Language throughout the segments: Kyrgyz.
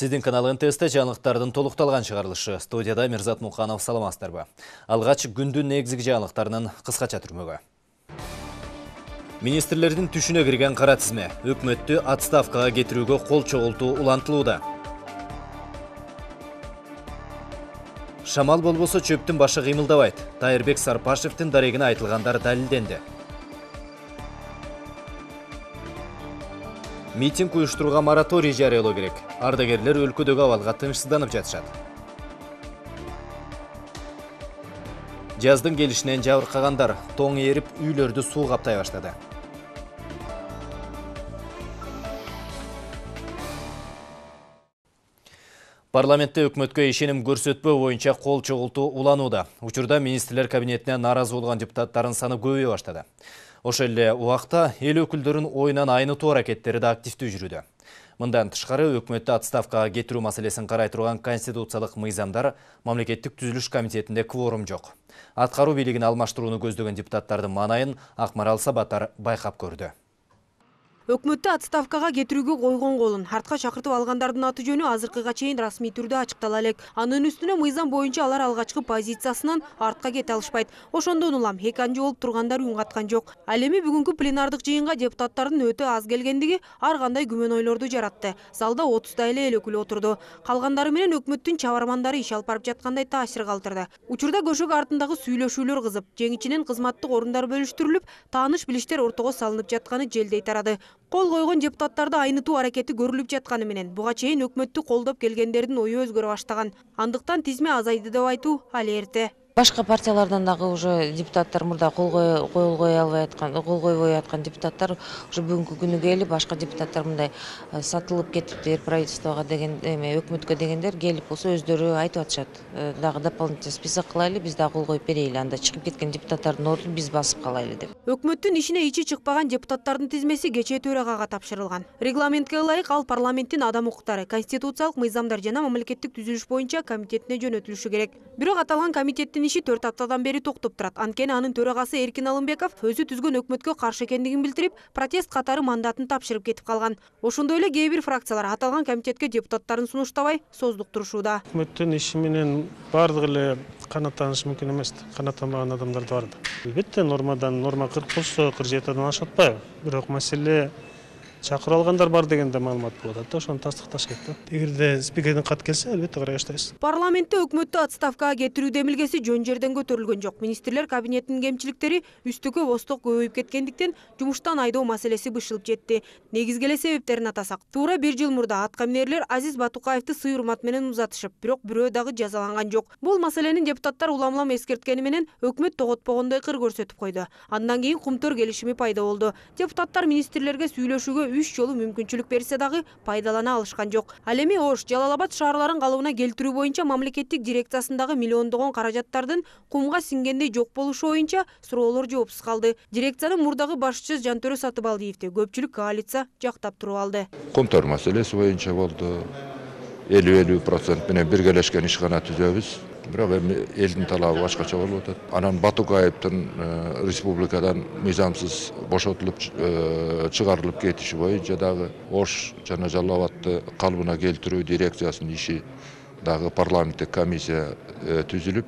Сиздин канал НТС-те жаңылыктардын толукталган чыгарылышы. Студияда Мирзат Муканов, саламатсыздарбы. Алгач күндүн негизги жаңылыктарынын кыскача түрмөгү. Министрлердин түшүнө кирген кара тизме өкмөттү отставкага кетирүүгө кол чогултуу улантылууда. Шамал болбосо чөптүн башы кыймылдабайт. Тайырбек Сарпашевдин дарегине айтылгандар далилденди. Митинг уюштурууга мораторий жарыялоо керек. Ардагерлер өлкөдөгү абалга тынчсызданып жатышат. Жаздын келишинен жабыркагандар тоң эрип үйлөрдү суу каптай баштады. Парламентте өкмөткө ишеним көрсөтпөө боюнча кол чогултуу уланууда. Учурда министрлер кабинетине нааразы болгон депутаттардын саны көбөйө баштады. Ошол эле убакта эл өкүлдөрүнүн оюнан айнытуу аракеттери да активдүү жүрүүдө. Мындан тышкары өкмөттү отставкага кетирүү маселесин карай турган конституциялык мыйзамдар мамлекеттик түзүлүш комитетинде кворум жок. Аткаруу бийлигин алмаштырууну көздөгөн депутаттардын маанайын Акмарал Сабатар байкап көрдү. Өкмөттү отставкага кетирүүгө койгон колун артка чакыртып алгандардын аты жөнү азыркыга чейин расмий түрдө ачыктала элек. Анын үстүнө мыйзам боюнча алар алгачкы позициясынан артка кете алышпайт. Ошондон улам эки анжы болуп тургандар үн каткан жок. Ал эми бүгүнкү пленардык жыйынга депутаттардын өтө аз келгендиги ар кандай күмөн ойлорду жаратты. Залда 30 эле эл өкүлү отурду. Калгандары менен өкмөттүн чабармандары иш алып барып жаткандай таасир калтырды. Учурда көшөгө артындагы сүйлөшүүлөр кызып, жеңичинен кызматтык орундар бөлүштүрүлүп, тааныш билиштер ортого салынып жатканы желдей тарады. Кол койгон депутаттарды айнытуу аракети көрүлүп жатканы менен буга чейин өкмөттү колдоп келгендердин ою өзгөрө баштаган. Андыктан тизме азайды деп айтуу али эрте. Башка партиялардан дагы уже депутаттар мурда кол койбой аткан депутаттар уже бүгүнкү күнү келип, башка депутаттар мындай сатылып кетиптир правительствого деген өкмөткө дегендер келип болсо өздөрү айтып атышат. Дагы дополнительный список кылайлы, биз дагы кол коюп берели, анда чыгып кеткен депутаттардын ордун биз басып калайлы деп. Өкмөттүн ишине ичи чыкпаган депутаттардын тизмеси кечээ төрагага тапшырылган. Регламентке ылайык ал парламенттин адам укуктары, конституциялык мыйзамдар жана мамлекеттик түзүлүш боюнча комитетине жөнөтүлүшү керек. Бирок аталган комитеттин иши 4 аптадан бери токтоп турат. Анткени анын төрагасы Эркин Алымбеков өзү түзгөн өкмөткө каршы экендигин билдирип, протест катары мандатын тапшырып кетип калган. Ошондой эле кээ бир фракциялар аталган комитетке депутаттарын сунуштабай создуктурушууда. Өкмөттүн иши менен бардыгы эле канааттанышы мүмкүн эмес. Канааттанбаган адамдар да бар да. Албетте норма 40 болсо 47 ашып атпайбы. Бирок маселе чакырып алгандар бар деген да маалымат болуп атат да, ошону тастыкташ керек да. Эгерде спикердин кат келсе, албетте карай баштайбыз. Парламентте өкмөттү отставкага кетирүү демилгеси жөн жерден көтөрүлгөн жок. Министрлер кабинетинин кемчиликтери үстүккө босток көбөйүп кеткендиктен жумуштан айдоо маселеси бышылып жетти. Негизги эле себептерин атасак, туура 1 жыл мурда аткаминерлер Азиз Батукаевди сый урмат менен узатышып, бирок бирөө дагы жазаланган жок. Бул маселени депутаттар улам-улам эскерткени менен өкмөт тоготпогондой кыр көрсөтүп койду. Андан кийин кумтөр келишими пайда болду. Депутаттар министрлерге сүйлөшүүгө 3 жолу мүмкүнчүлүк берсе дагы пайдалана алышкан жок. Ал эми Ош, Жалал Абад шаарларын калыбына келтирүү боюнча мамлекеттик дирекциясындагы миллиондогон каражаттардын кумга сиңгендей жок болушу боюнча суроолор жоопсуз калды. Дирекциянын мурдагы башчысы Жантөрө Сатыбалдиевди көпчүлүк коалиция жактап туруп алды. Кумтөр маселеси боюнча болду. 50% менен биргелешкен ишкана түзөбүз. Бирок эми элдин талабы башкача болуп атат. Анан Батукаевдин республикадан мыйзамсыз бошотулуп чыгарылып кетиши боюнча дагы Ош жана Жалал Абадты калыбына келтирүү дирекциясынын иши дагы парламенттик комиссия түзүлүп,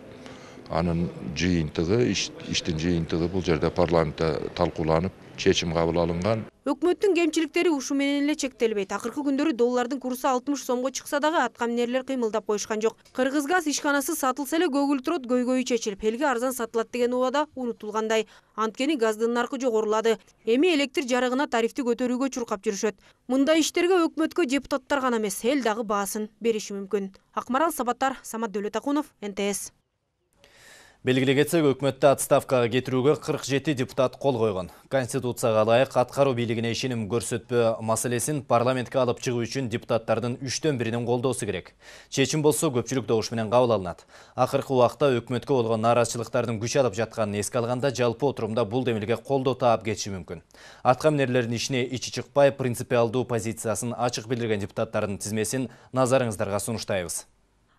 анын жыйынтыгы, иштин жыйынтыгы бул жерде парламентте талкууланып, чечим кабыл алынган. Өкмөттүн кемчиликтери ушу менен эле чектелбейт. Акыркы күндөрү доллардын курсу 60 сомго чыкса дагы аткаминерлер кыймылдап коюшкан жок. Кыргызгаз ишканасы сатылса эле көгүлтүрөт көйгөйү чечилип, элге арзан сатылат деген убада унутулгандай. Анткени газдын наркы жогорулады. Эми электр жарыгына тарифти көтөрүүгө чуркап жүрүшөт. Мындай иштерге өкмөткө депутаттар гана эмес, эл дагы баасын бериши мүмкүн. Акмарал Сабатар, Самат Дөөлөтакунов, НТС. Белгилей кетсек, өкмөттү отставкага кетирүүгө 47 депутат кол койгон. Конституцияга ылайык аткаруу бийлигине ишеним көрсөтпөө маселесин парламентке алып чыгуу үчүн депутаттардын 3төн 1-ин колдоосу керек. Чечим болсо көпчүлүк добуш менен кабыл алынат. Акыркы убакта өкмөткө болгон нааразычылыктардын күч алып жатканын эске алганда жалпы отурумда бул демилге колдоо таап кетиши мүмкүн. Аткаминерлердин ишине ичи чыкпай, принципиалдуу позициясын ачык билдирген депутаттардын тизмесин назарыңыздарга сунуштайбыз.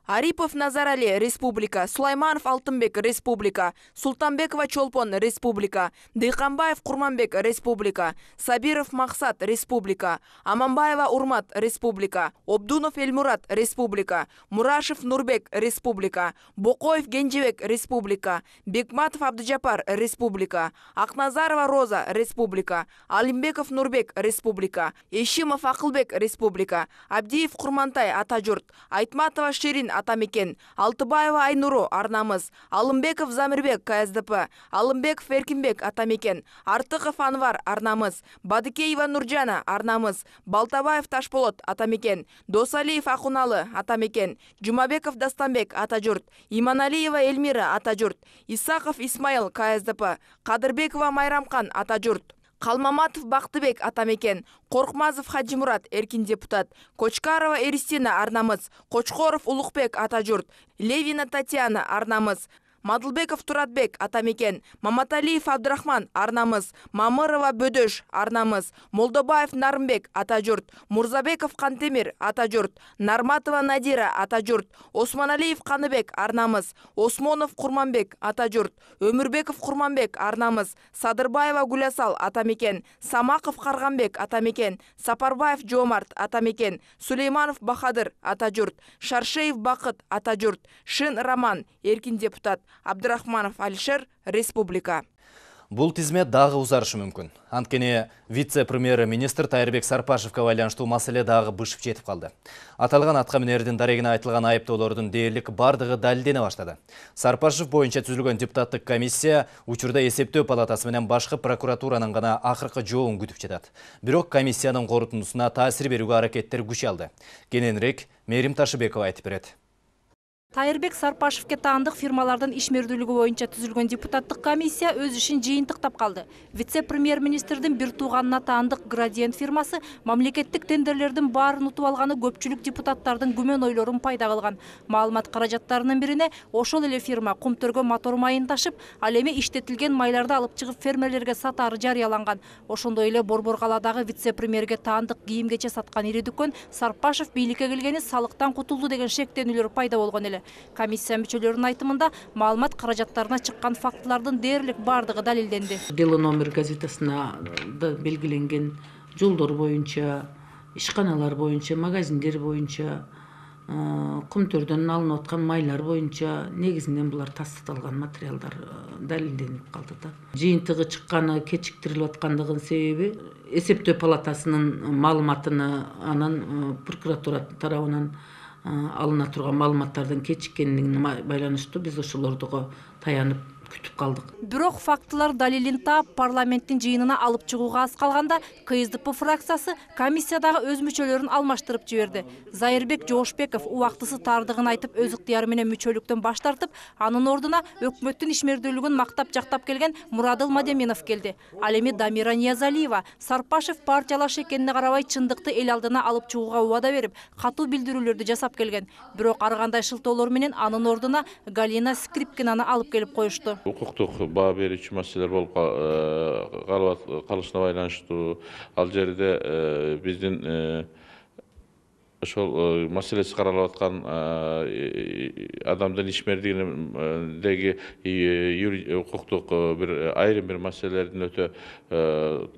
Арипов Назарали, республика. Сулайманов Алтынбек, республика. Султанбекова Чолпон, республика. Дыйканбаев Курманбек, республика. Сабиров Максат, республика. Аманбаева Урмат, республика. Обдунов Эльмурат, республика. Мурашев Нурбек, республика. Бокоев Генжебек, республика. Бекматов Абдыжапар, республика. Акназарова Роза, республика. Алимбеков Нурбек, республика. Ешимов Акылбек, республика. Абдиев Курмантай, Атажурт. Айтматова Ширин, Атамекен. Алтыбаева Айнуру, Арнамыз. Алымбеков Замирбек, КСДП. Алымбеков Эркинбек, Атамекен. Артыков Анвар, Арнамыз. Бадыкеева Нуржана, Арнамыз. Балтабаев Ташполот, Атамекен. Досалиев Акуналы, Атамекен. Жумабеков Дастанбек, Атажурт. Иманалиева Эльмира, Атажурт. Исаков Исмаил, КСДП. Кадырбекова Майрамкан, Атажурт. Калмаматов Бактыбек, Атамекен. Коркмазов Хаджимурат, эркин депутат. Кочкарова Эристина, Арнамыз. Кочкоров Улукбек, Атажурт. Левина Татьяна, Арнамыз. Мадылбеков Туратбек, Атамекен. Маматалиев Абдрахман, Арнамыз. Мамырова Бөдөш, Арнамыз. Молдобаев Нарымбек, Атажурт. Мурзабеков Кантемир, Атажурт. Нарматова Надира, Атажурт. Османалиев Каныбек, Арнамыз. Осмонов Курманбек, Атажурт. Өмүрбеков Курманбек, Арнамыз. Садырбаева Гулясал, Атамекен. Самаков Карганбек, Атамекен. Сапарбаев Жомарт, Атамекен. Сулейманов Бахадыр, Атажурт. Шаршеев Бакыт, Атажурт. Шин Роман, эркин депутат. Абдрахманов Алишер, республика. Бул тизме дагы узарышы мүмкүн. Анткени вице-премьер-министр Тайырбек Сарпашевке байланыштуу маселе дагы бышып жетип калды. Аталган аткаминердин дарегине айтылган айыптоолордун дээрлик бардыгы далилдене баштады. Сарпашев боюнча түзүлгөн депутаттык комиссия учурда эсептөө палатасы менен башкы прокуратуранын гана акыркы жообун күтүп жатат. Бирок комиссиянын корутундусуна таасир берүүгө аракеттер күчөldү. Кененирээк Мерим Ташыбекова айтып берет. Тайырбек Сарпашевке таандык фирмалардын ишмердүүлүгү боюнча түзүлгөн депутаттык комиссия өз ишин жыйынтыктап калды. Вице-премьер-министрдин бир тууганына таандык Градиент фирмасы мамлекеттик тендерлердин баарын утуп алганы көпчүлүк депутаттардын күмөн ойлорун пайда кылган. Маалымат каражаттарынын бирине ошол эле фирма Кумтөргө мотор майын ташып, ал эми иштетилген майларды алып чыгып фермерлерге сатаары жарыяланган. Ошондой эле Борбор калаадагы вице-премьерге таандык кийим-кече саткан ири дүкөн Сарпашев бийликке келгени салыктан кутулду деген шектенүүлөр пайда болгон эле. Комиссия мүчөлөрүнүн айтымында маалымат каражаттарына чыккан фактылардын дээрлик бардыгы далилденди. Дело номер газетасына белгиленген жолдор боюнча, ишканалар боюнча, магазиндер боюнча, Кумтөрдөн алынып аткан майлар боюнча негизинен булар тастыкталган материалдар далилденип калды да. Жыйынтыгы чыкканы кечиктирилип аткандыгынын себеби эсептөө палатасынын маалыматыны анан прокуратура тарабынан алына турган маалыматтардын кечиккендигине байланыштуу биз ошолордуга таянып күтүп калдык. Бирок фактылар далилин таап парламенттин жыйынына алып чыгууга аз калганда КСДП фракциясы комиссиядагы өз мүчөлөрүн алмаштырып жиберди. Зайырбек Жоошбеков убактысы тардыгын айтып өз ыктыяры менен мүчөлүктөн баш тартып, анын ордуна өкмөттүн ишмердүүлүгүн мактап жактап келген Мурадыл Мадеминов келди. Ал эми Дамира Ниязалиева Сарпашев партиялаш экенине карабай чындыкты эл алдына алып чыгууга убада берип, катуу билдирүүлөрдү жасап келген. Бирок ар кандай шылтоолор менен анын ордуна Галина Скрипкинаны алып келип коюшту. Укуктук баа берүүчү маселелер болуп калышына байланыштуу ал жерде биздин ошол маселеси каралып аткан адамдын ишмердигиндеги укуктук бир айрым бир маселелердин өтө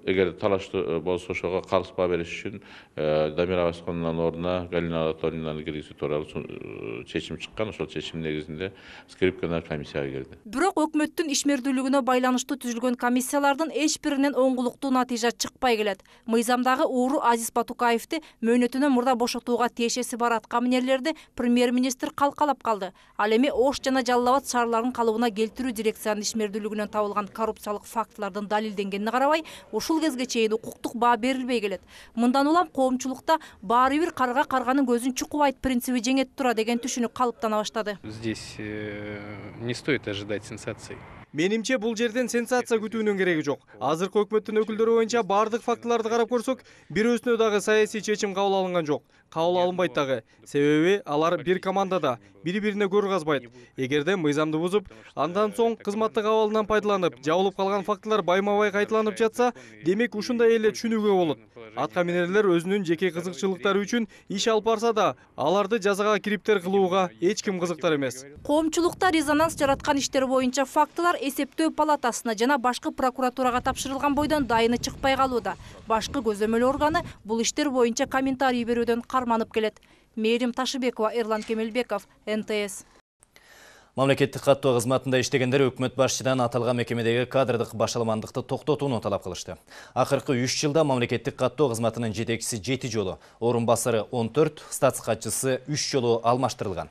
эгер талаштуу болсо ошого калыс баа бериш үчүн Дамира Абасконунун ордуна Галина Анатольевнаны киргизүү тууралуу чечим чыккан. Ошол чечим негизинде Скрипкалар комиссияга келди. Бирок өкмөттүн ишмердүүлүгүнө байланыштуу түзүлгөн комиссиялардын эч биринен оңгулуктуу натыйжа чыкпай келет. Мыйзамдагы ууру Азиз Батукаевди мөөнөтүнөн мурда бошотууга тиешеси бар аткаминерлерди премьер-министр калкалап калды. Ал эми Ош жана Жалал Абад шаарларынын калыбына келтирүү дирекциянын ишмердүүлүгүнөн табылган коррупциялык фактылардын далилденгенине карабай, ушул кезге чейин укуктук баа берилбей келет. Мындан улам коомчулукта баары бир карга карганын көзүн чукубайт принциби жеңет тура деген түшүнүк калыптана баштады. Здесь не стоит ожидать сенсаций. Менимче бул жерден сенсация күтүүнүн кереги жок. Азыркы өкмөттүн өкүлдөрү боюнча бардык фактыларды карап көрсөк, бир өзүнө дагы саясий чечим кабыл алынган жок. кабыл алынбайт дагы. Себеби алар бир командада, бири-бирине көр казбайт. Эгерде мыйзамды бузуп, андан соң кызматтык абалынан пайдаланып, жабылып калган фактылар байма-бай кайталанып жатса, демек ушундай эле түшүнүүгө болот. Атка минерлер өзүнүн жеке кызыкчылыктары үчүн иш алып барса да, аларды жазага кириптер кылууга эч ким кызыктар эмес. Коомчулукта резонанс жараткан иштер боюнча фактылар эсептөө палатасына жана башкы прокуратурага тапшырылган бойдон дайыны чыкпай калууда. Башкы көзөмөл органы бул иштер боюнча комментарий берүүдөн карманып келет. Мээрим Ташыбекова, Эрлан Кемелбеков, НТС. Мамлекеттик каттоо кызматында иштегендер өкмөт башчыдан аталган мекемедеги кадрдык башаламандыкты токтотууну талап кылышты. Акыркы 3 жылда мамлекеттик каттоо кызматынын жетекчиси 7 жолу, орун басары 14, статс катчысы 3 жолу алмаштырылган.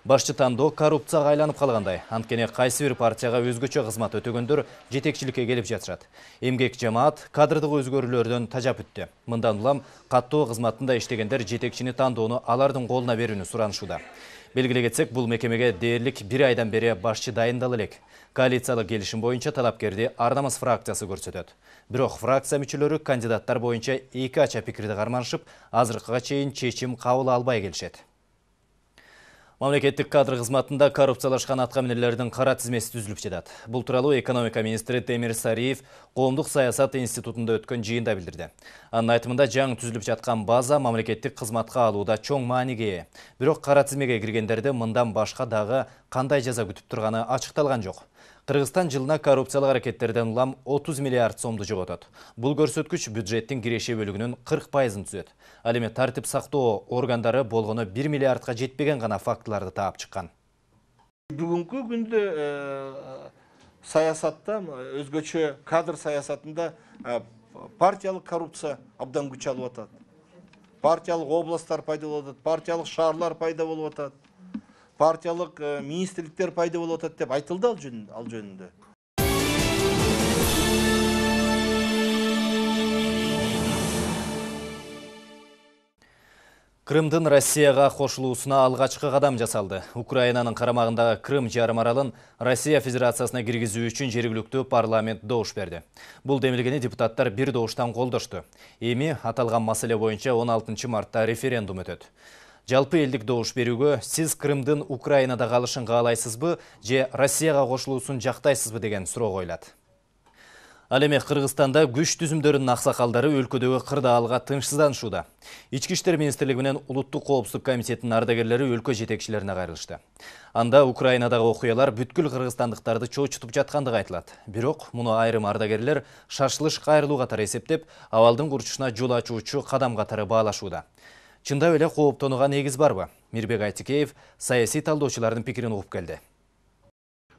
Башчы тандоо коррупцияга айланып калгандай, анткени кайсы бир партияга өзгөчө кызмат өтөгөндөр жетекчиликке келип жатышат. Эмгек жамаат кадрдык өзгөрүүлөрдөн тажап өттү. Мындан улам каттоо кызматында иштегендер жетекчини тандоону алардын колуна берүүнү суранышууда. Белгилей кетсек, бул мекемеге дээрлик 1 айдан бери башчы дайындала элек. Коалициялык келишим боюнча талапкерди Ар намыс фракциясы көрсөтөт. Бирок фракция мүчөлөрү кандидаттар боюнча эки ача пикирди карманышып, азыркыга чейин чечим кабыл албай келишет. Мамлекеттик кадр кызматында коррупциялашкан атка минерлердин кара тизмеси түзүлүп жатат. Бул тууралуу экономика министри Темир Сариев Коомдук саясат институтунда өткөн жыйында билдирди. Анын айтымында жаңы түзүлүп жаткан база мамлекеттик кызматка алууда чоң мааниге ээ. Бирок кара тизмеге киргендерди мындан башка дагы кандай жаза күтүп турганы ачыкталган жок. Кыргызстан жылына коррупциялык аракеттерден улам 30 миллиард сомду жоготот. Бул көрсөткүч бюджеттин киреше бөлүгүнүн 40%-ын түзөт. Ал эми тартип сактоо органдары болгону 1 миллиардга жетпеген гана фактыларды таап чыккан. Бүгүнкү күндө саясатта, өзгөчө кадр саясатында партиялык коррупция абдан күч алып атат. Партиялык областтар пайда болуп атат, партиялык шаарлар пайда болуп атат. Партиялык министрликтер пайда болуп атат деп айтылды ал жөнүндө. Крымдын Россияга кошулуусуна алгачкы кадам жасалды. Украинанын карамагындагы Крым жарым аралын Россия Федерациясына киргизүү үчүн жергиликтүү парламент добуш берди. Бул демилгени депутаттар бир добуштан колдошту. Эми аталган маселе боюнча 16 мартта референдум өтөт. Жалпы элдик добуш берүүгө сиз Крымдын Украинада калышын каалайсызбы же Россияга кошулуусун жактайсызбы деген суроо коюлат. Ал эми Кыргызстанда күч түзүмдөрүнүн аксакалдары өлкөдөгү кырдаалга тынчсызданышууда. Ички иштер министрлиги менен Улуттук коопсуздук комитетинин ардагерлери өлкө жетекчилерине кайрылышты. Анда Украинадагы окуялар бүткүл кыргызстандыктарды чоочутуп жаткандыгы айтылат. Бирок муну айрым ардагерлер шашылыш кайрылуу катары эсептеп, абалдын курчушуна жол ачуучу кадам катары баалашууда. Чындап эле кооптонууга негиз барбы? Мирбек Айтикеев саясий талдоочулардын пикирин угуп келди.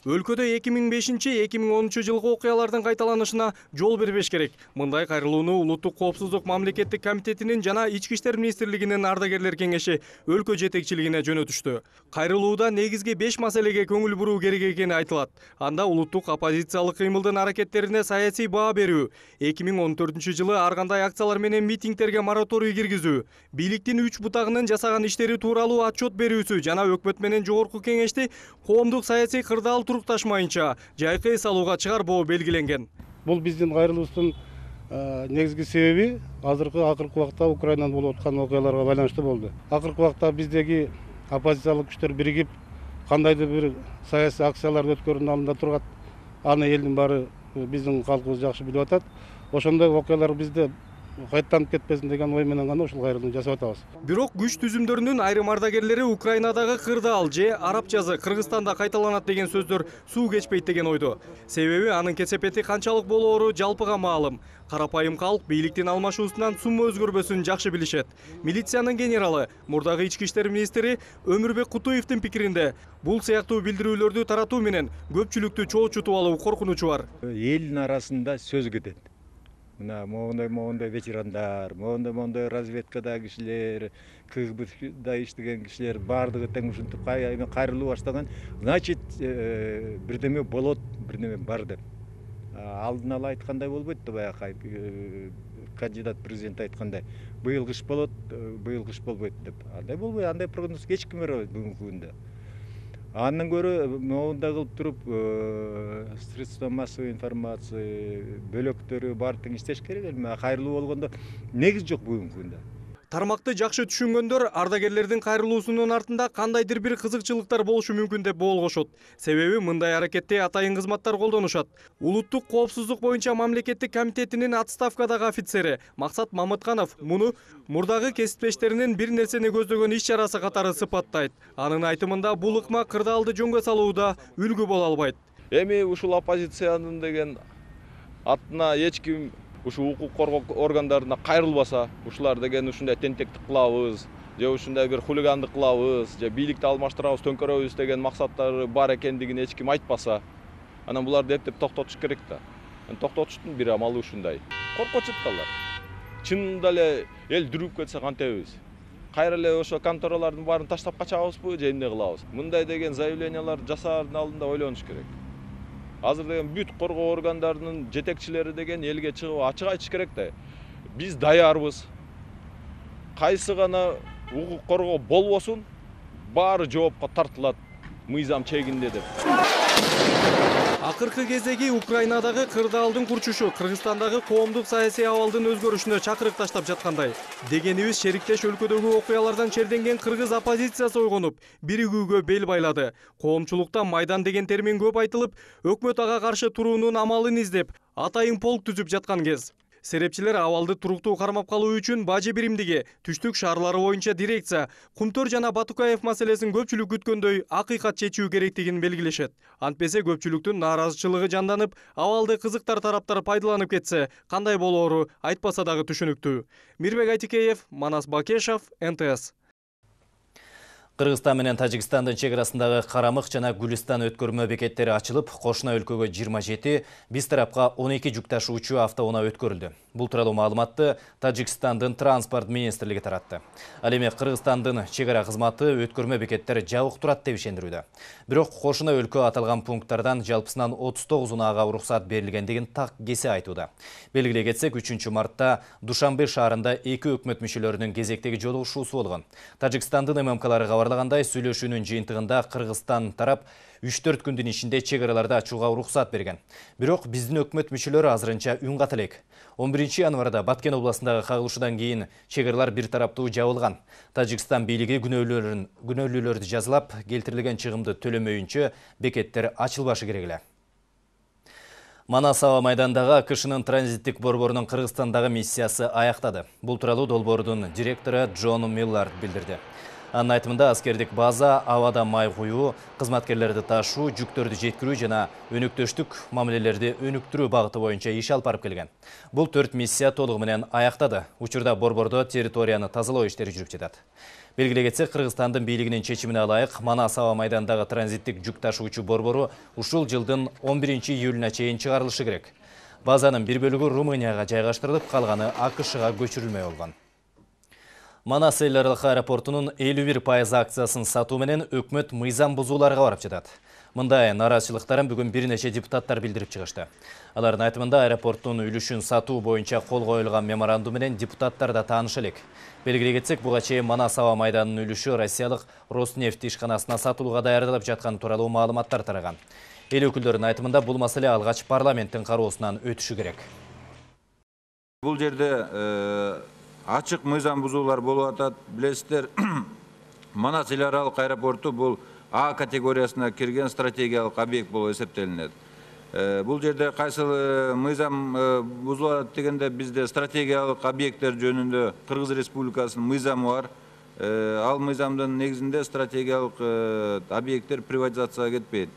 Өлкөдө 2005-2010 жылғы окуялардын кайталанышына жол бербеш керек. Мындай кайрылууну Улуттук коопсуздук мамлекеттик комитетинин жана Ички иштер министрлигинин ардагерлер кеңеши өлкө жетекчилигине жөнөтүштү. Кайрылууда негизги 5 маселеге көңүл буруу керек экени айтылат. Анда улуттук оппозициялык кыймылдын аракеттерине саясий баа берүү, 2014 жылы ар кандай акциялар менен митингтерге мораторий киргизүү, бийликтин 3 бутагынын жасаган иштери тууралуу отчет берүүсү жана өкмөт менен жогорку кеңешти коомдук саясий кырдаал турукташмайынча жайкы эс алууга чыгарбоо белгиленген. Бул биздин кайрылуубуздун негизги себеби акыркы убакта Украинада болуп аткан окуяларга байланыштуу болду. Акыркы убакта биздеги оппозициялык күчтөр биригип кандайдыр бир саясий акцияларды өткөрүүнүн алдында турат. Аны элдин баары биздин калкыбыз жакшы билип атат. Ошондой окуялар бизде кайталанып кетпесин деген ой менен гана ушул кайрылууну жасап атабыз. Бирок күч түзүмдөрүнүн айрым ардагерлери Украинадагы кырдаал же араб жазы Кыргызстанда кайталанат деген сөздөр суу кечпейт деген ойдо. Себеби анын кесепети канчалык болоору жалпыга маалым. Карапайым калк бийликтин алмашуусунан сумма өзгөрбөсүн жакшы билишет. Милициянын генералы, мурдагы ички иштер министри Өмүрбек Кутуевдин пикиринде бул сыяктуу билдирүүлөрдү таратуу менен көпчүлүктү чоочутуп алуу коркунучу бар. Элдин арасында сөз кетет. Мына моундай ветерандар, моундай разведкадагы кишилер, КГБда иштеген кишилер баардыгы тең ушинтип кайрылуу баштаган. Значит, бирдеме болот, бирдеме бар деп. Алдын ала айткандай болбойт да, баягы кандидат президент айткандай. Быйыл кыш болот, быйыл кыш болбойт деп. Андай болбойт, андай прогноз эч ким бере албайт бүгүнкү күндө. Андан көрө моундай кылып туруп средства массовой информации бөлөктөрү бар тең иштеш керек эле. Кайрылуу болгондо негиз жок бүгүнкү күндө. Тармакты жакшы түшүнгөндөр ардагерлердин кайрылуусунун артында кандайдыр бир кызыкчылыктар болушу мүмкүн деп боолгошот. Себеби мындай аракетте атайын кызматтар колдонушат. Улуттук коопсуздук боюнча мамлекеттик комитетинин отставкадагы офицери Максат Мамытканов муну мурдагы кесиптештеринин бир нерсени көздөгөн иш чарасы катары сыпаттайт. Анын айтымында бул ыкма кырдаалды жөнгө салууда үлгү боло албайт. Эми ушул оппозициянын деген атына эч ким ушу укук коргоо органдарына кайрылбаса, ушулар деген ушундай тентектик кылабыз, же ушундай бир хулигандык кылабыз, же бийликти алмаштырабыз, төңкөрөбүз деген максаттары бар экендигин эч ким айтпаса, анан буларды эптеп токтотуш керек да. Токтотуштун бир амалы ушундай. Коркочут алар. Чынында эле эл дүрүп кетсе кантебиз? Кайра эле ошо конторалардын баарын таштап качабызбы, же эмне кылабыз? Мындай деген заявлениялар жасаардын алдында ойлонуш керек. Азыр деген бүт коргоо органдарынын жетекчилери деген элге чыгып ачык айтыш керек да. Биз даярбыз. Кайсы гана укук коргоо болбосун, баары жоопко тартылат мыйзам чегинде деп. Акыркы кездеги Украинадагы кырдаалдын курчушу Кыргызстандагы коомдук саясий абалдын өзгөрүшүнө чакырык таштап жаткандай. Дегенибиз шериктеш өлкөдөгү окуялардан черденген кыргыз оппозициясы ойгонуп, биригүүгө бел байлады. Коомчулукта майдан деген термин көп айтылып, өкмөт ага каршы туруунун амалын издеп, атайын полк түзүп жаткан кез. Серепчилер абалды туруктуу кармап калуу үчүн бажы биримдиги, түштүк шаарлары боюнча дирекция, Кумтөр жана Батукаев маселесин көпчүлүк күткөндөй акыйкат чечүү керектигин белгилешет. Антпесе көпчүлүктүн нааразычылыгы жанданып, абалды кызыктар тараптар пайдаланып кетсе, кандай болоору айтпаса дагы түшүнүктүү. Мирбек Айтикеев, Манас Бакешов, НТС. Кыргызстан менен Тажикстандын чек арасындагы Карамык жана Гүлистан өткөрмө бекеттери ачылып, кошуна өлкөгө 27, биз тарапка 12 жүк ташуучу автоунаа өткөрүлдү. Бул тууралуу маалыматты Тажикстандын транспорт министрлиги таратты. Ал эми Кыргызстандын чек ара кызматы өткөрмө бекеттери жабык турат деп ишендирүүдө. Бирок кошуна өлкө аталган пункттардан жалпысынан 39 унаага уруксат берилгендигин так кесе айтууда. Белгилей кетсек, 3 мартта Душанбе шаарында 2 өкмөт мүчөлөрүнүн кезектеги жолугушуусу болгон. Тажикстандын ММКлары кабарлагандай, сүйлөшүүнүн жыйынтыгында Кыргызстан тарап 3-4 күндүн ичинде чек араларды ачууга уруксат берген. Бирок биздин өкмөт мүчөлөрү азырынча үн ката элек. 11 январда Баткен областындагы кагылышуудан кийин чек аралар бир тараптуу жабылган. Тажикстан бийлиги күнөөлүүлөрдү жазылап, келтирилген чыгымды төлөмөйүнчө бекеттер ачылбашы керек эле. Манас аба майдандагы АКШнын транзиттик борборунун Кыргызстандагы миссиясы аяктады. Бул тууралуу долбоордун директору Джон Миллард билдирди. Анын айтымында аскердик база, абада май куюу, кызматкерлерди ташуу, жүктөрдү жеткирүү жана өнүктөштүк мамилелерди өнүктүрүү багыты боюнча иш алып барып келген. Бул 4 миссия толугу менен аяктады. Учурда борбордо территорияны тазалоо иштери жүрүп жатат. Белгилей кетсек, Кыргызстандын бийлигинин чечимине ылайык Манас аба майдандагы транзиттик жүк ташуучу борбору ушул жылдын 11 июлуна чейин чыгарылышы керек. Базанын бир бөлүгү Румынияга жайгаштырылып, калганы АКШга көчүрүлмөй болгон. Манас эл аралык аэропортунун 51% акциясын сатуу менен өкмөт мыйзам бузууларга барып жатат. Мындай нааразычылыктарын бүгүн бир нече депутаттар билдирип чыгышты. Алардын айтымында аэропорттун үлүшүн сатуу боюнча кол коюлган меморандум менен депутаттар да тааныш элек. Белгилей кетсек, буга чейин Манас аба майданынын үлүшү Россиялык Роснефть ишканасына сатылууга даярдалып жаткан тууралуу маалыматтар тараган. Эл өкүлдөрүнүн айтымында бул маселе алгач парламенттин кароосунан өтүшү керек. Бул жерде ачык мыйзам бузуулар болуп атат. Билесиздер, Манас эл аралык аэропорту бул А категориясына кирген стратегиялык объект болуп эсептелинет. Бул жерде кайсы мыйзам бузулуп атат дегенде, бизде стратегиялык объекттер жөнүндө Кыргыз Республикасынын мыйзамы бар. Ал мыйзамдын негизинде стратегиялык объекттер приватизацияга кетпейт.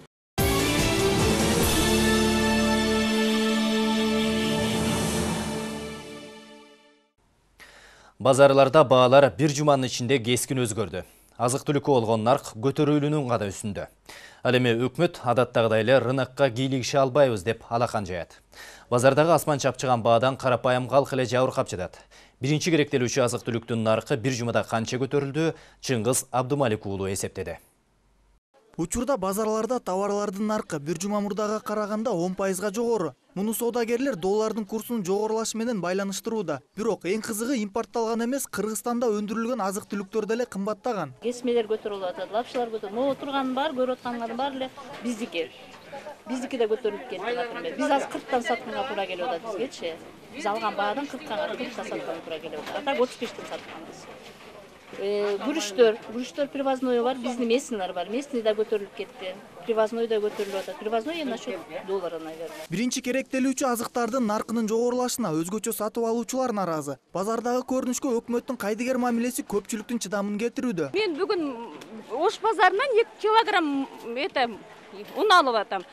Базарларда баалар бир жуманын ичинде кескин өзгөрдү. Азык-түлүккө болгон нарк көтөрүүлүүнүн гана үстүндө. Ал эми өкмөт адаттагыдай эле рынокко кийлигише албайбыз деп алакан жаят. Базардагы асман чапчыган баадан карапайым калк эле жабыркап жатат. Биринчи керектелүүчү азык-түлүктүн наркы бир жумада канча көтөрүлдү? Чыңгыз Абдумалик уулу эсептеди. Учурда базарларда товарлардын наркы бир жума мурдага караганда 10%га жогору. Муну соодагерлер доллардын курсунун жогорулашы менен байланыштырууда. Бирок эң кызыгы импортталган эмес, Кыргызстанда өндүрүлгөн азык-түлүктөр деле кымбаттаган. Кесмелер көтөрүлүп атат, лапшалар көтөрүлүп, могу турганын бар, көрүп аткандын баары эле биздики. Биздики да көтөрүлүп кетти например. Биз азыр 40-тан сатканга туура келип атат бизгечи. Биз алган баадан 40-та сатканга туура келип атат. А так 35-тен сатканбыз. Күрүчтөр привозной бар, биздин местныйлар бар. Местный да көтөрүлүп кетти. Привозной да көтөрүлүп атат. Привозной насчет доллара, наверное. Биринчи керектелүүчү азыктардын наркынын жогорулашына өзгөчө сатып алуучулар наразы. Базардагы көрүнүшкө өкмөттүн кайдыгер мамилеси көпчүлүктүн чыдамын кетирүүдө. Мен бүгүн Ош базарынан 2 килограмм un алып атам.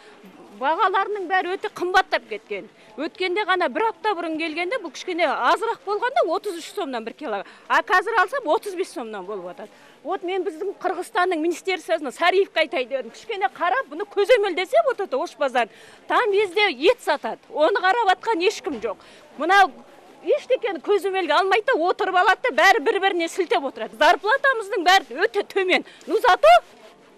Багаларынын баары өтө кымбаттап кеткен. Өткенде гана 1 апта бурун келгенде бул кичкене азыраак болгондо 33 сомдон 1 килограмм. А азыр алсам 35 сомдон болуп атат. Вот мен биздин Кыргызстандын министерствосуна Сариевке айтайын дедим. Кичкене карап, буну көзөмөлдесе вот Ош базар. Там везде ет сатат. Оны карап аткан эч ким жок. Мына эчтекени көзөмөлгө алмай да отуруп алат да баары бири-бирине силтеп отурат. Зарплатамыздын баары өтө төмөн. Ну зато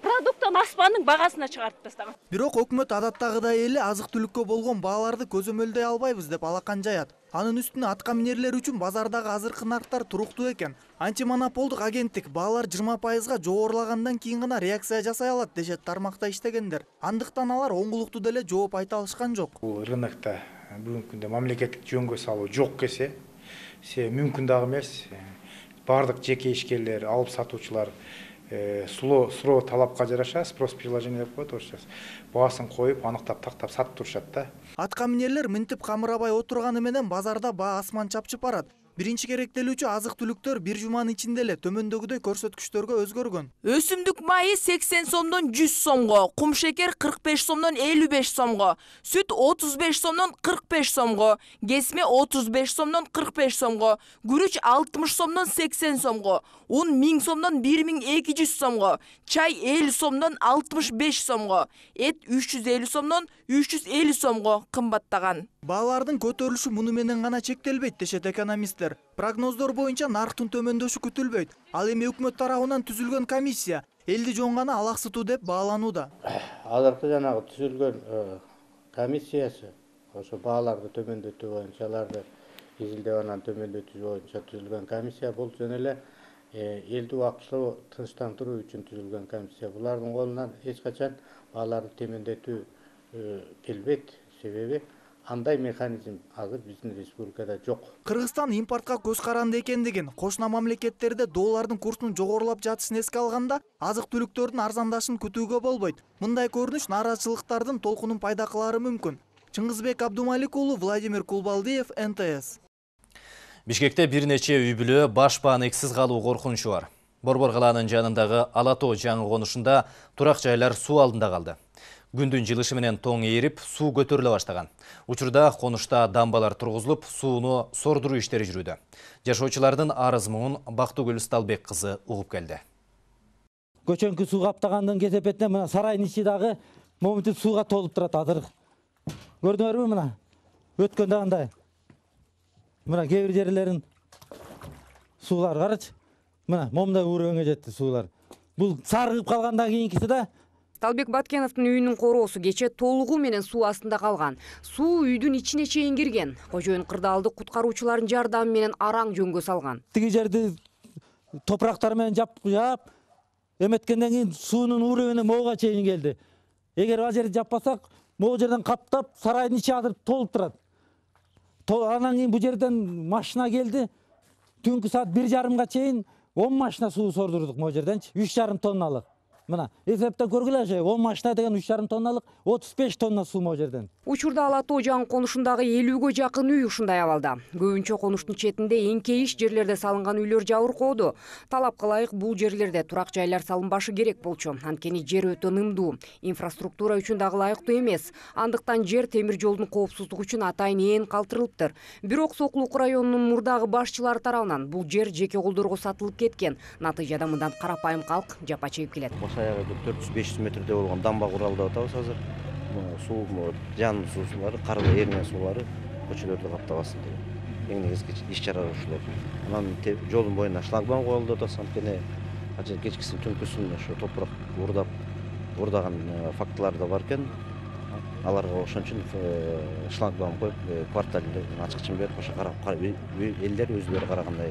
продукттан аспандын багасына чыгарып тастаган. Бирок өкмөт адаттагыдай эле азык-түлүккө болгон бааларды көзөмөлдөй албайбыз деп алакан жаят. Анын үстүнө атка минерлер үчүн базардагы азыркы нарктар туруктуу экен. Антимонополдук агенттик баалар 20%га жогорулагандан кийин гана реакция жасай алат дешет тармакта иштегендер. Андыктан алар оңгулуктуу деле жооп айта алышкан жок. Бул рынокто бүгүнкү күндө мамлекеттик жөнгө салуу жок кесе, мүмкүн дагы эмес. Бардык жеке ишкерлер, алып сатуучулар суроо талапка жараша спрос предложение деп коет орусча. Баасын коюп, аныктап, тактап сатып турушат да. Атка минерлер мынтип камырабай отурганы менен базарда баа асман чапчып барат. Биринчи керектелүүчү азык-түлүктөр бир жуманын ичинде эле төмөндөгүдөй көрсөткүчтөргө өзгөргөн. Өсүмдүк майы 80 сомдон 100 сомго, кум шекер 45 сомдон 55 сомго, сүт 35 сомдон 45 сомго, кесме 35 сомдон 45 сомго, күрүч 60 сомдон 80 сомго, un 1000 сомдон 1200 сомго, чай 50 сомдон 65 сомго, эт 350 сомдон 350 сомго кымбаттаган. Баалардын көтөрүлүшү муну менен гана чектелбейт дешет экономисттер. Прогноздор боюнча нарктын төмөндөшү күтүлбөйт. Ал эми өкмөт тарабынан түзүлгөн комиссия элди жоңгана алаксытуу деп бааланууда. Азыркы жанагы түзүлгөн комиссиясы ошо бааларды төмөндөтүү боюнча аларды изилдеп анан төмөндөтүү боюнча түзүлгөн комиссия бул жөн эле элди убактылуу тынчтандыруу үчүн түзүлгөн комиссия. Булардын колунан эч качан бааларды төмөндөтүү келбейт. Себеби андай механизм азыр биздин республикада жок. Кыргызстан импортко көз каранды экендигин, кошуна мамлекеттерде доллардын курсунун жогорулап жатышын эске алганда, азык-түлүктөрдүн арзандашын күтүүгө болбойт. Мындай көрүнүш нааразычылыктардын толкунун пайда кылары мүмкүн. Чыңгызбек Абдумалик уулу, Владимир Кулбалдиев, НТС. Бишкекте бир нече үй бүлө баш бааныксыз калуу коркунучу бар. Борбор калаанын жанындагы Ала Тоо жаңы конушунда турак жайлар суу алдында калды. Күндүн жылышы менен тоң ээрип, суу көтөрүлө баштаган. Учурда конушта дамбалар тургузулуп, сууну сордуруу иштери жүрүүдө. Жашоочулардын арыз муун Бактыгүл Сталбек кызы угуп келди. Көчөнкү суу каптагандан кесепетинен мына сарайдын ичи дагы момунтип сууга толуп турат азыр. Көрдүңөрбү мына? Өткөндө кандай? Мына кээ бир жерлерин суулар карачы. Мына момундай уровенге жетти суулар. Бул сарыгып калгандан кийинкиси да. Талбек Баткеновдун үйүнүн короосу кече толугу менен суу астында калган. Суу үйдүн ичине чейин кирген. Кожоюн кырдаалды куткаруучулардын жардамы менен араң жөнгө салган. Тиги жерди топурактар менен жаап, эметкенден кийин суунун уровени могуга чейин келди. Эгер ал жерди жаппасак, могу жерден каптап, сарайдын ичи азыр толуп турат. Анан кийин бу жерден машина келди. Түнкү саат 1:30га чейин 10 машина суу сордурдук могу жерденчи, 3,5 тонналык. Мына, эсептеп көргүлөчү, 10 машина деген 3,5 тонналык, 35 тонна суу могу жерден. Учурда Ала Тоо жаңы конушундагы 50ге жакын үй ушундай абалда. Көбүнчө конуштун четинде эңкейиш жерлерде салынган үйлөр жабыркоодо. Талапка ылайык бул жерлерде турак жайлар салынбашы керек болчу. Анткени жер өтө нымдуу. Инфраструктура үчүн дагы ылайыктуу эмес. Андыктан жер темир жолдун коопсуздугу үчүн атайын ээн калтырылыптыр. Бирок Сокулук районунун мурдагы башчылары тарабынан бул жер жеке колдорго сатылып кеткен. Натыйжада мындан карапайым калк жапа чегип келет. Аягы 400-500 метрде болгон дамба куралы деп атабыз азыр. Суу жанын суусулары, кар эрген суулары көчөлөрдү каптабасын деп. Эң негизги иш чара ушулар. Анан жолдун боюна шлагбаум коюлду деп атабыз. Анткени ажа кечкисин түнкүсүн ошо топурак урдаган фактылар да бар экен. аларга ошон үчүн шлагбаум коюп кварталды ачкычын берип ошо элдер өзүлөрү карагандай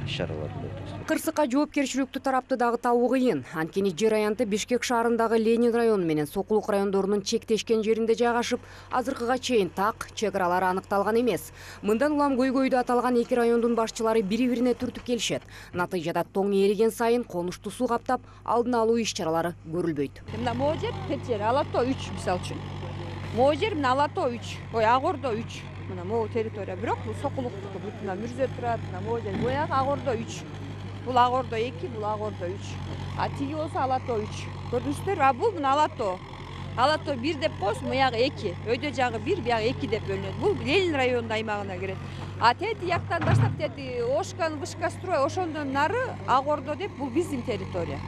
иш чараларды өткөзөт. Кырсыкка жоопкерчиликтүү тарапты дагы табуу кыйын. Анткени жер аянты Бишкек шаарындагы Ленин району менен Сокулук райондорунун чектешкен жеринде жайгашып, азыркыга чейин так чек аралары аныкталган эмес. Мындан улам көйгөйдө аталган эки райондун башчылары бири-бирине түртүп келишет. Натыйжада тоң эриген сайын конушту суу каптап, алдын алуу иш чаралары көрүлбөйт. Мына могу жер тет жер, Алато 3 мисалы үчүн. Могу жер мына Алато 3, Ак Ордо 3. Мына могу территория, бирок бул Сокулуктуку, мына Мүрзө турат, мына могу жер, буягы Ак Ордо 3. Бул Ак Ордо 2, бул Ак Ордо 3. А тиги болсо Алато 3. Көрдүңүздөр, а бул мына Алато. Алато 1 деп коюш, буягы 2. Өйдө жагы 1, буягы 2 деп бөлүнөт. Бул Ленин районунун аймагына кирет. А тети яктан баштап тети Ошкан, Вышкастрой, ошондон нары Ак Ордо деп бул биздин территория.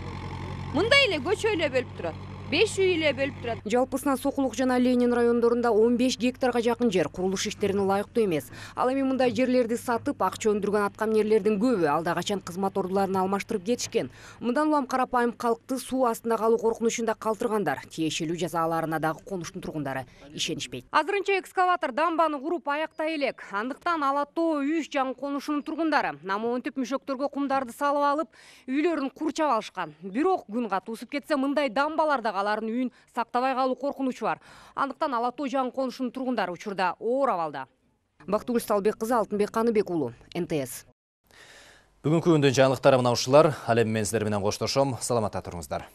Мындай эле көчө эле бөлүп турат. 5 үй эле бөлүп турат. Жалпысынан Сокулук жана Ленин райондорунда 15 гектарга жакын жер курулуш иштерине ылайыктуу эмес. Ал эми мындай жерлерди сатып, акча өндүргөн аткаминерлердин көбү алда качан кызмат ордуларын алмаштырып кетишкен. Мындан улам карапайым калкты суу астында калуу коркунучунда калтыргандар, тиешелүү жазаларына дагы конуштун тургундары ишенишпейт. Азырынча экскаватор дамбаны куруп аяктай элек. Андыктан Алато 3 жаңы конушунун тургундары намоонтип мүшөктөргө кумдарды салып алып, үйлөрүн курчап алышкан. Бирок күн катуу ысып кетсе, мындай дамбаларда алардын үйүн сактабай калуу коркунучу бар. Андыктан Алато жаңы конушунун тургундары учурда оор абалда. Бактыгүл Салбек кызы, Алтынбек Каныбек уулу, НТС. Бүгүнкү күндүн жаңылыктары мына ушулар. Ал эми мен сиздер менен коштошом. Саламатта туруңуздар.